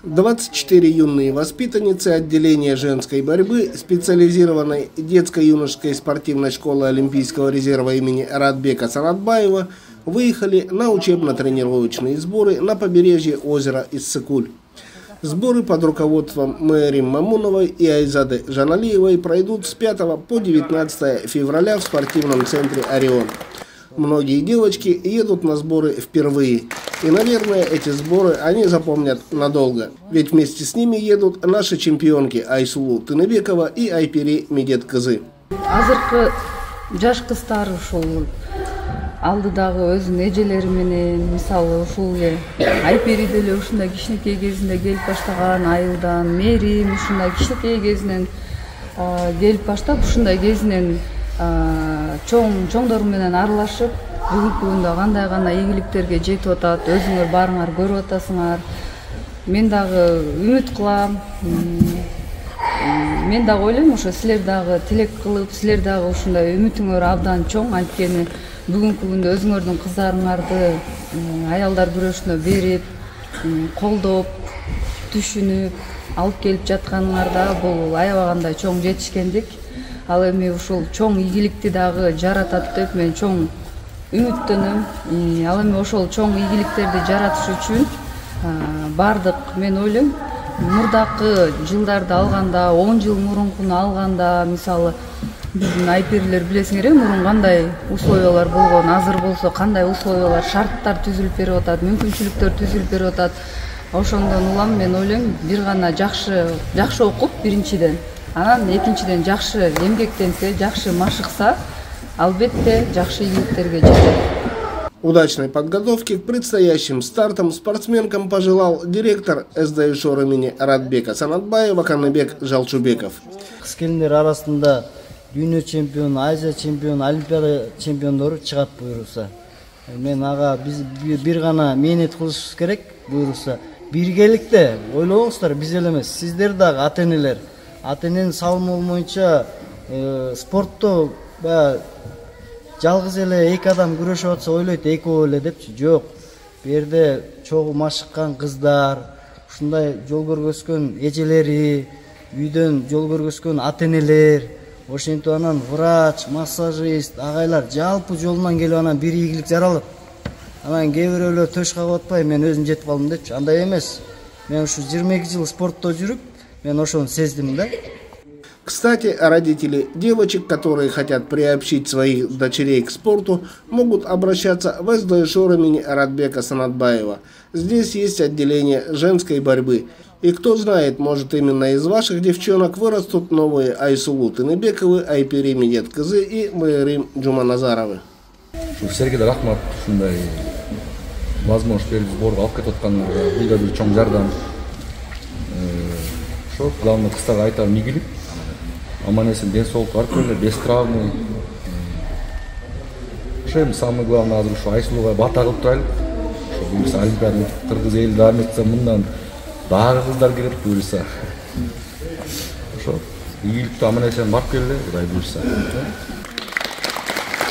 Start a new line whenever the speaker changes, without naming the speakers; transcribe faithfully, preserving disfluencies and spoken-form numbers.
двадцать четыре юные воспитанницы отделения женской борьбы специализированной детско-юношеской спортивной школы Олимпийского резерва имени Радбека Санатбаева выехали на учебно-тренировочные сборы на побережье озера Иссыкуль. Сборы под руководством Мээрим Мамуновой и Айзады Жаналиевой пройдут с пятого по девятнадцатое февраля в спортивном центре «Орион». Многие девочки едут на сборы впервые. И, наверное, эти сборы они запомнят надолго. Ведь вместе с ними едут наши чемпионки Айсулу Тыныбекова и Айпери Медеткызы.
Азыркы жаш кыздар ушул алдыдагы өзүнүн эжелери менен, мисалы ушул Айпери деле ушундай кичинекей кезинде келип баштаган, Айылдан, Мээрим ушундай кичинекей кезинен келип баштап, ушундай кезинен чоң чоңдор менен аралашып, бүгүнкү күндө кандай гана ийгиликтерге жетип атат, өзүңөр барыңар көрүп атасыңар. Мен дагы үмүт кылам. Мен дагы ойлойм, ошо силер дагы тилек кылып, силер дагы ушундай үмүтүңөр абдан чоң, анткени бүгүнкү күндө өзүңөрдүн кыздарыңарды аялдар күрөшүнө берип, колдоп, түшүнүп, алып келип жатканыңарда бул аябагандай чоң жетишкендик. Ал эми ушул чоң ийгиликти дагы жаратат деп мен чоң үмүттөнөм. Ал эми ошол чоң ийгиликтерди жаратыш үчүн бардык, мен ойлойм, мурдакы жылдарды алганда, он жыл мурункуну алганда, мисалы биздин Айперилер билесиңер, мурун кандай условиялар болгон, азыр болсо кандай условиялар, шарттар түзүлүп берип атат, мүмкүнчүлүктөр түзүлүп берип атат. Ошондон улам мен ойлойм, бир гана жакшы жакшы окуп биринчиден, анан экинчиден жакшы эмгектенсе, жакшы машыкса, албетте жакшы ийгиликтерге жетет.
Удачной подготовки к предстоящим стартам спортсменкам пожелал директор эс дэ ШОР имени Радбека Санатбаева Каныбек Жалчубеков.
Кыз келиндер арасында дүйнө чемпиону, Азия чемпиону, Олимпиада чемпиондору чыгат буюрса. Мен ага биз бир гана мээнет кылышыбыз керек буюрса. Биргеликте ойлобоңуздар, биз эле эмес, сиздер дагы ата-энелер. Ата-эненин салымы боюнча спортто жалгыз эле эки адам күрөшүп атса ойлойт экөө эле депчи. Жок. Бу жерде чогуу машыккан кыздар, ушундай жол көргөзгөн эжелери, үйдөн жол көргөзгөн ата-энелер, ошентип анан врач, массажист, агайлар жалпы жолунан келип анан бир ийгилик жаралып, анан кээ бирөөлөр төш кагып атпай, мен өзүм жетип калдым депчи. Андай эмес. Мен ушу жыйырма эки жыл спортто жүрүп, мен ошону сездим да.
Кстати, родители девочек, которые хотят приобщить своих дочерей к спорту, могут обращаться в эс дэ ШОР имени Радбека Санатбаева. Здесь есть отделение женской борьбы. И кто знает, может именно из ваших девчонок вырастут новые Айсулу Тыныбековы, Айпери Медеткызы и Мээрим Жуманазаровы.
Силерге да рахмат, ушундай возможность берип сборго алып кетип аткандарга, бул да бир чоң жардам. Ошо главный кыздарга айтарым ийгилик. Аман эсен ден соолук барып келе, без травмы. Ошо эми самое главное азыр ушу Айсулуга бата кылып турайлык. Ошо буюрса Олимпиада кыргыз эли дагы этсе мындан дагы кыздар кирет буюрса. Ошо ийгиликтүү аман эсен барып келе, Кудай буюрса.